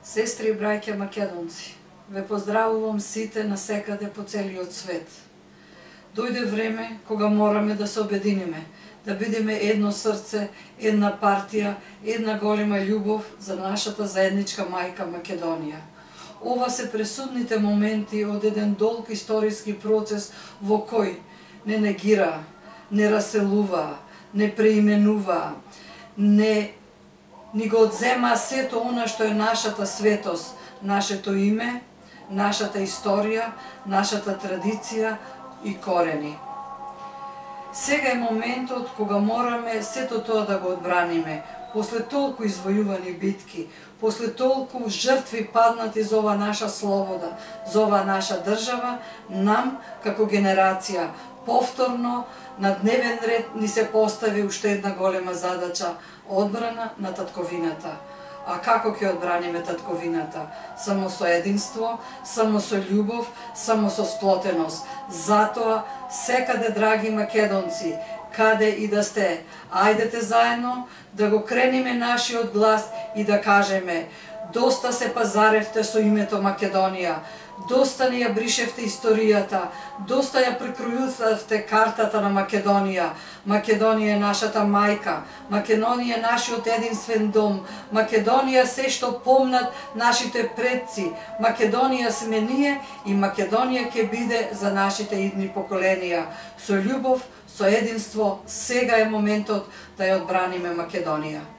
Сестри и браќа македонци, ве поздравувам сите насекаде по целиот свет. Дојде време кога мораме да се обединиме, да бидеме едно срце, една партија, една голема љубов за нашата заедничка мајка Македонија. Ова се пресудните моменти од еден долг историски процес во кој не негира, не раселува, не преименува, ни го одзема сето она што е нашата светост, нашето име, нашата историја, нашата традиција и корени. Сега е моментот кога мораме сето тоа да го одбраниме, после толку извојувани битки, после толку жртви паднати за ова наша слобода, за ова наша држава, нам, како генерација, повторно на дневен ред ни се постави уште една голема задача – одбрана на татковината. А како ќе одбраниме татковината? Само со единство, само со љубов, само со сплотеност. Затоа, секаде, драги македонци, каде и да сте, ајдете заедно да го крениме нашиот глас и да кажеме: доста се пазаревте со името Македонија, доста ни ја бришевте историјата, доста ја прекројувавте картата на Македонија. Македонија е нашата мајка, Македонија е нашиот единствен дом, Македонија се што помнат нашите предци, Македонија сме ние и Македонија ќе биде за нашите идни поколенија. Со љубов, со единство, сега е моментот да ја одбраниме Македонија.